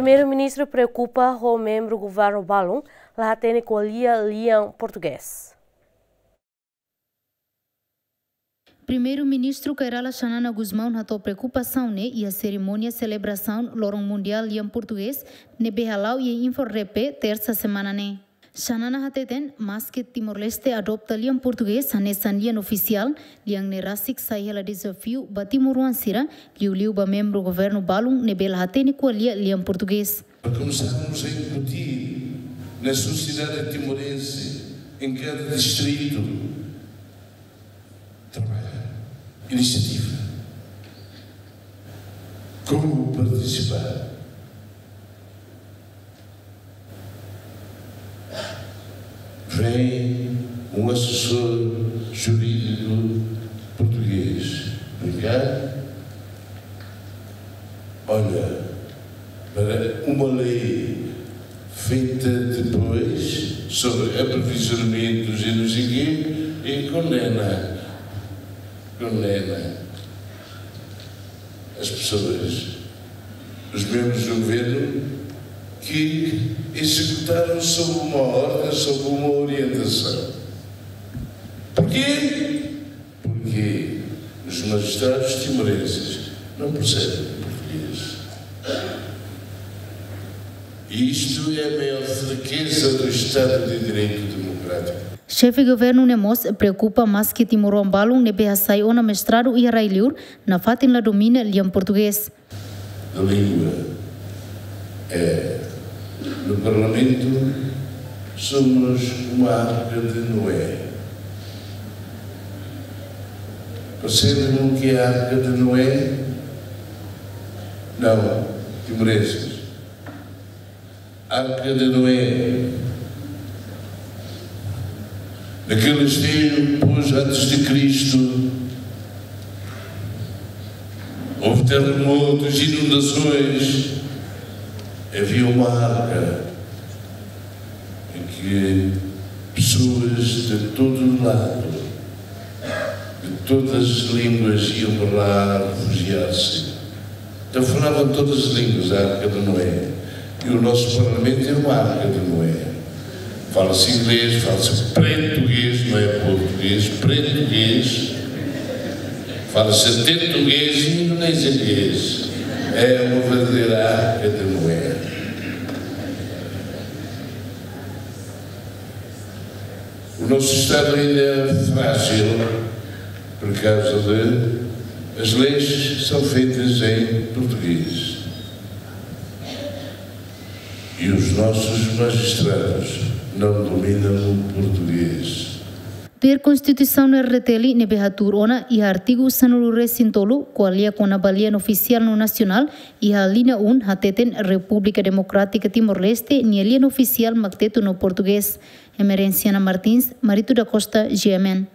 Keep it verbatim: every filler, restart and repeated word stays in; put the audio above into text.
Primeiru-Ministru preokupa ho membru governu balun la hatene ko'alia lian portugés. Primeiru-Ministru Kay Rala Xanana Gusmão hato'o preokupasaun ne'e iha serimónia selebrasaun Loron Mundiál lian portugés ne'ebé hala'o iha Inforedape, tersa semana ne'e. Xanana hateten, maske Timor-Leste adopta lian portugés hanesan lian ofisiál, lian ne'e rasik sai hela dezafiu ba timoroan sira, liuliu ba membru governu balun ne'ebé la hatene ko'alia lian portugés. Começamos a incutir na sociedade timorense, em cada distrito, trabalho, iniciativa. Como participar? Vem um assessor jurídico português. Obrigado. Olha, para uma lei feita depois sobre aprovisionamentos e não sei quê, e condena, condena as pessoas, os membros do governo que executaram sob uma ordem, sob uma orientação. Porquê? Porque os magistrados timorenses não percebem português. E isto é a maior fraqueza do Estado de Direito Democrático. Xefe governu ne'e mós preokupa maske timoroan balun ne'ebé hasai ona mestradu iha rai-liur, nafatin la domina lian portugés. Da língua. É, no Parlamento somos uma arca de Noé. Percebem o que é a arca de Noé? Não, timorenses. Arca de Noé. Naqueles tempos antes de Cristo, houve terremotos, inundações. Havia uma arca em que pessoas de todo lado, de todas as línguas iam para lá refugiar-se. Então falavam todas as línguas, a Arca de Noé. E o nosso Parlamento é uma Arca de Noé. Fala-se inglês, fala-se português, não é português, português. Fala-se tetuguês e indonezianês. É uma verdadeira Arca de Noé. O nosso Estado ainda é frágil por causa de as leis são feitas em português. E os nossos magistrados não dominam o português. Tuir Konstituisaun R D T L ne'ebé hatuur ona iha artigu sanulu-resin-tolu, ko'alia kona-ba lian ofisiál no nasionál, iha alínea um hateten Repúblika Demokrátika Timor-Leste nia lian ofisiál mak tetun no portugés. Emerenciana Martins, Marito da Costa, G M N.